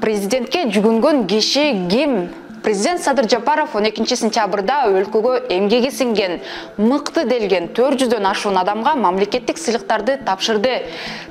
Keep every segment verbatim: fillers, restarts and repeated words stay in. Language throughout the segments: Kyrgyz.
Президентке жүгүнгөн киши ким? Президент Садыр Жапаров он экинчи сентябрда өлкөгө эмгеги сиңген, мыкты делген төрт жүздөн ашуун адамга мамлекеттик сыйлыктарды тапшырды.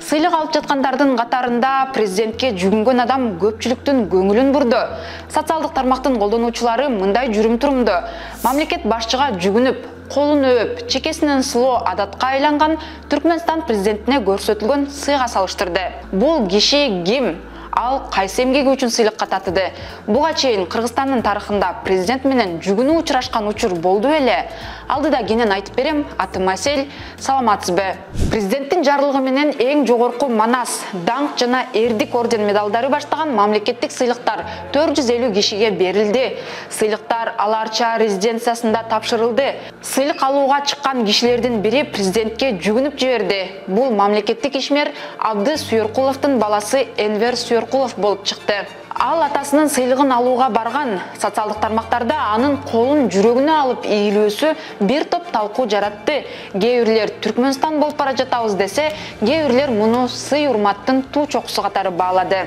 Сыйлык алып жаткандардын катарында президентке жүгүнгөн адам көпчүлүктүн көңүлүн бурду. Социалдык тармактын колдонуучулары мындай жүрүм-турумду мамлекет башчыга жүгүнүп, колун өөп, чекесинен сулоо адатка айланган Түркмөнстан президентине көрсөтүлгөн сыйга салыштырды. Бул киши ким? Ал кайсы эмгеги үчүн сыйлыкка татыды? Буга чейин Кыргызстандын тарыхында президент менен жүгүнүү учурашкан учур болду беле? Алдыда кенен айтып берем, атым Асель, саламатсызбы? Президенттин жарлыгы менен эң жогорку манас, даңк жана эрдик орден медалдары баштаган мамлекеттик сыйлыктар төрт жүз элүү кишиге берилди. Сыйлыктар Аларча резиденциясында тапшырылды. Сыйлык алууга чыккан кишилердин бири президентке жүгүнүп жиберди. Бул мамлекеттик ишмер Абды Сүйөркуловдун баласы Энвер Сүйөркулов болуп чыкты. Ал атасынын сыйлыгын алууга барган. Социалдык тармактарда анын колун жүрөгүнө алып ийилүүсү бир топ талкуу жаратты. Кээ бирлер Түркмөнстан болуп бара жатабыз десе, кээ бирлер муну сый урматтын туу чокусу катары баалады.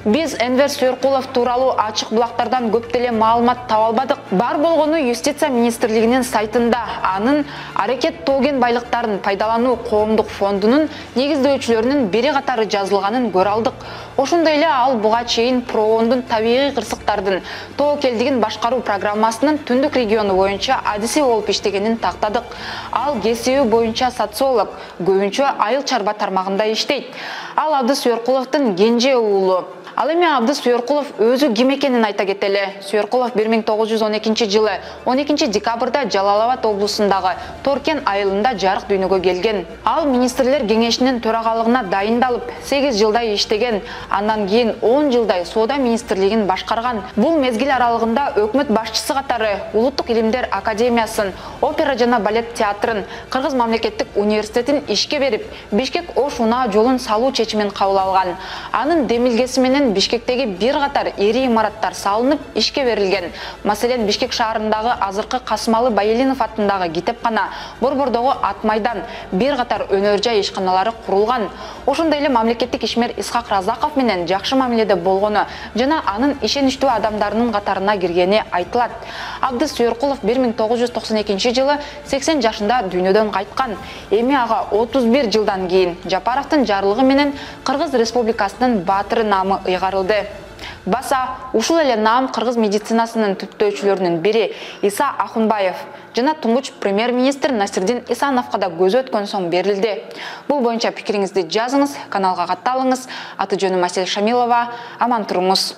Биз Энвер Сүйөркулов тууралуу ачык булактардан көп деле маалымат таба албадык. Бар болгону Юстиция министрлигинин сайтында анын Аракет Тоген байлыктарын пайдалануу коомдук фондунун негиздөөчүлөрүнүн бири катары жазылганын көрө алдык. Ошондой эле ал буга чейин Проондун табигый кырсыктардын тоокелдигин башкаруу программасынын түндүк региону боюнча адиси болуп иштегенин тактадык. Ал кесиби боюнча социолог, көбүнчө айыл чарба тармагында иштейт. Ал Абды Сүйөркуловдун кенже уулу. Ал эми Абды Сүйөркулов өзү ким экенин айта кетели. Сүйөркулов бир миң тогуз жүз он экинчи жылы он экинчи декабрда Жалал Абад облусундагы Торкен айылында жарык дүйнөгө келген. Ал министрлер кеңешинин төрагалыгына дайындалып, сегиз жылдай иштеген. Андан кийин он жылдай соода министрлигин башкарган. Бул мезгил аралыгында өкмөт башчысы катары Улуттук илимдер академиясын, опера жана балет театрын, Кыргыз мамлекеттик университетин ишке берип, Бишкек-Ош унаа жолун салуу чечимин кабыл алган. Анын демилгеси менен Бишкектеги бир катар ири имараттар салынып, ишке берилген. Маселен, Бишкек шаарындагы азыркы Касымалы Байелинов аттындагы китепкана, Борбордогу Ат майдан, бир катар өнөр жай ишканалары курулган. Ошондой эле мамлекеттик ишмер Исхак Разаков менен жакшы мамиледе болгону жана анын ишеничтүү адамдарынын катарына киргени айтылат. Абды Сүйөркулов бир миң тогуз жүз токсон экинчи жылы сексен жашында дүйнөдөн кайткан. Эми ага отуз бир жылдан кийин Жапаровдун жарлыгы менен Кыргыз Республикасынын баатыры наамы ыйгарылды. Баса ушул эле наам кыргыз медицинасынын түптөөчүлөрүнүн бири Иса Ахунбаев жана туңгуч премьер-министр Насирдин Исановго да көзү өткөн соң берилди. Бул боюнча пикириңизди жазыңыз, каналга катталыңыз. Аты жөнүм Асель Шамилова. Аман туруңуз.